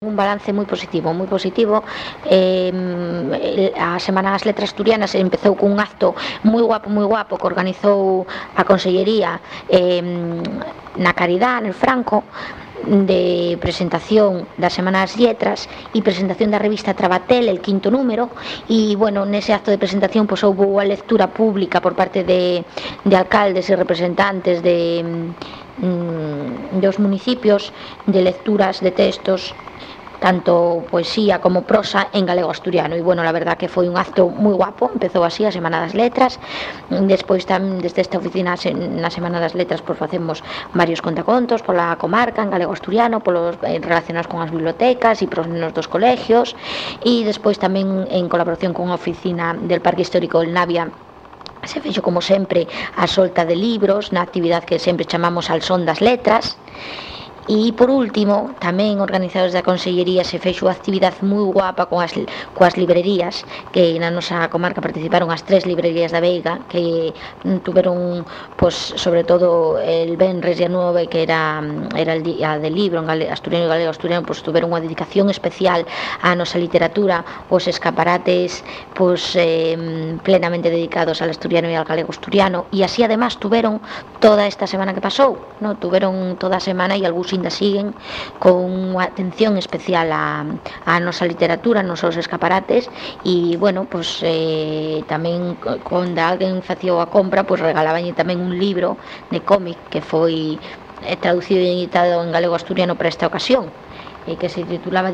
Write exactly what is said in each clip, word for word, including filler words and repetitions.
Un balance moi positivo, moi positivo. Eh, a Semana das Letras Asturianas empezou cun acto moi guapo, moi guapo que organizou a Consellería eh, na Caridad, en Franco, de presentación da Semana das Letras e presentación da revista Trabatel, el quinto número. E, bueno, nese acto de presentación pois houve a lectura pública por parte de, de alcaldes e representantes de, mm, dos municipios, de lecturas de textos tanto poesía como prosa en galego asturiano. E, bueno, la verdad que foi un acto moi guapo. Empezou así a Semana das Letras. Despois tamén desde esta oficina na Semana das Letras pois facemos varios contacontos pola comarca en galego asturiano, polos relacionados con as bibliotecas e pros nenos dos colegios. E despois tamén en colaboración con a oficina del Parque Histórico del Navia se fixo, como sempre, a solta de libros na actividade que sempre chamamos al son das letras. E, por último, tamén organizados da Consellería se fixo a actividade moi guapa con as, coas librerías, que na nosa comarca participaron as tres librerías da Veiga, que tuveron, pois, sobre todo el Benres e a Nove, que era, era el día del libro en galego, asturiano e galego asturiano, pois tuveron unha dedicación especial á nosa literatura, os escaparates pois eh, plenamente dedicados al asturiano e al galego asturiano. E así, además, tuveron toda esta semana que pasou, no? Tuveron toda a semana e algúns ainda siguen con unha atención especial a, a nosa literatura, nos seus escaparates. E, bueno, pois eh, tamén cando alguén facía a compra, pois regalaban tamén un libro de cómic que foi eh, traducido e editado en galego asturiano para esta ocasión, e que se titulaba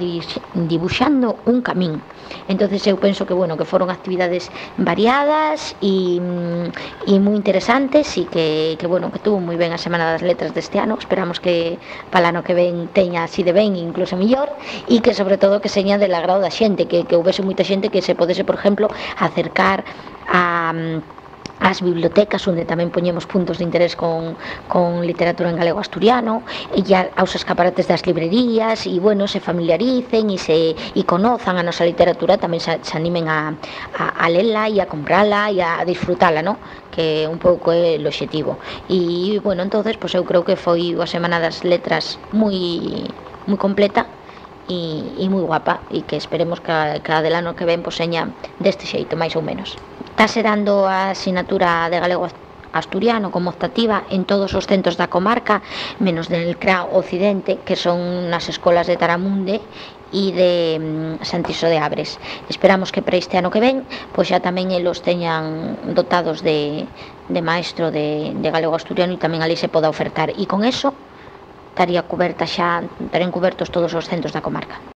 Dibuxando un camín. Entonces eu penso que, bueno, que foron actividades variadas e, e moi interesantes, e que, que, bueno, que tuvo moi ben a Semana das Letras deste ano. Esperamos que para ano que ven teña así de ben, incluso mellor, e que, sobre todo, que seña del agrado da xente, que, que houvese moita xente que se podese, por exemplo, acercar a as bibliotecas, onde tamén poñemos puntos de interés con, con literatura en galego asturiano, e ya aos escaparates das librerías, e, bueno, se familiaricen e se e conozan a nosa literatura, tamén se, se animen a, a, a lela e a comprala e a disfrutala, ¿no? Que un pouco é o obxectivo. E, bueno, entonces, pois eu creo que foi a Semana das Letras moi moi completa e, e moi guapa, e que esperemos que cada del ano que ven pois seña deste xeito, máis ou menos. Estase dando a asignatura de galego asturiano como optativa en todos os centros da comarca, menos del C R A Occidente, que son nas escolas de Taramunde e de Santiso de Abres. Esperamos que para este ano que ven pois xa tamén elos teñan dotados de, de maestro de, de galego asturiano, e tamén ali se poda ofertar, e con eso estaría coberta xa, estarían cobertos todos os centros da comarca.